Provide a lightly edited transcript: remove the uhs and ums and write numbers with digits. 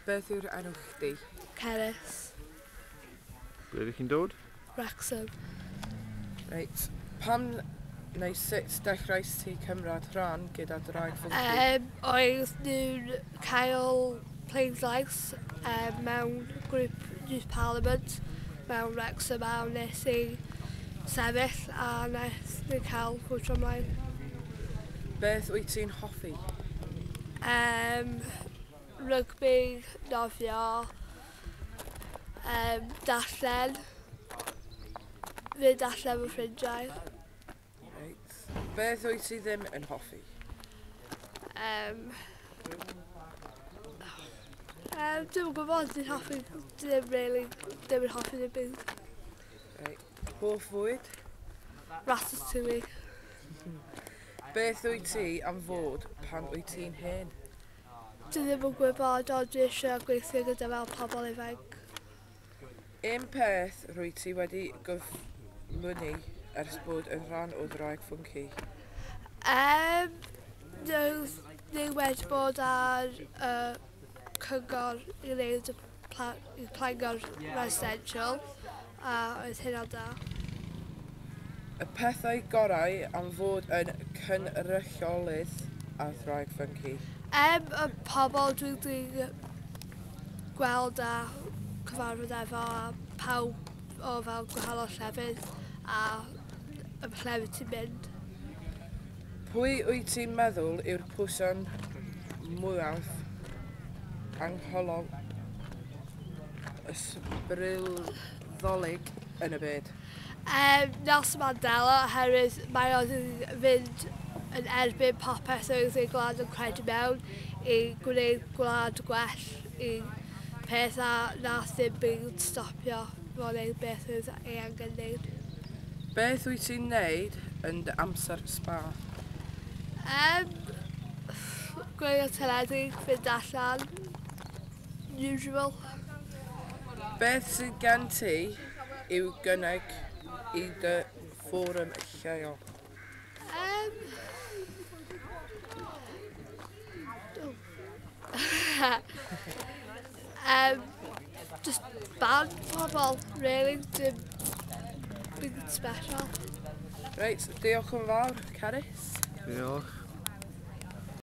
Beth yw'r enw chdi? Cerys. Ble ydych chi'n dod? Wrexham. Reit. Pam neu sut dechreuais ti cymryd rhan gyda Draig Ffwnci? Oedd nhw'n cael pleidlais mewn grŵp Youth Parliament mewn Wrexham a wnes i sefyll a wnes i cael fwtio ymlaen. Beth wyt ti'n hoffi? Rygbi, nofio, darllen, fynd allan efo ffrindiau. Reit. Beth wyt ti ddim yn hoffi? Dwi'm yn gwybod, dwi'n hoffi, ddim really, ddim yn hoffi ddim byd. Reit. Hoff fwyd? Ratatouille. Beth wyt ti am fod pan wyt ti'n hen? Dwi ddim yn gwybod, ond dwi eisiau gweithio gyda fel pobl ifanc. Un peth rwyt ti wedi gyflwyni ers bod yn rhan o Ddraig Ffwnci? Ni wedi bod ar cyngor i wneud y Plangor Residential, a oedd hynna'n da. Y pethau gorau am fod yn cynrychiolydd ar Ddraig Ffwnci? Y pobl dwi wedi gweld a cyfarfod efo a pawb o fel gwahanol llefydd a y llefydd ti'n mynd. Pwy wyt ti'n meddwl yw'r person mwyaf angholol ysbrydoledig yn y byd? Nelson Mandela, oherwydd mae o wedi fynd yn erbyn popeth oedd ei gwlad yn credu mewn i gwneud gwlad gwell i peth a nath ddim byd stopio fo wneud beth oedd ei angen wneud. Beth wyt ti'n wneud yn dy amser spa? Gwylio teledu, fynd allan, usual. Beth sydd gen ti i'w gynnig i dy fforwm lleol? Just band pobl, really, dim big special. Reit, diolch yn fawr, Cerys. Diolch.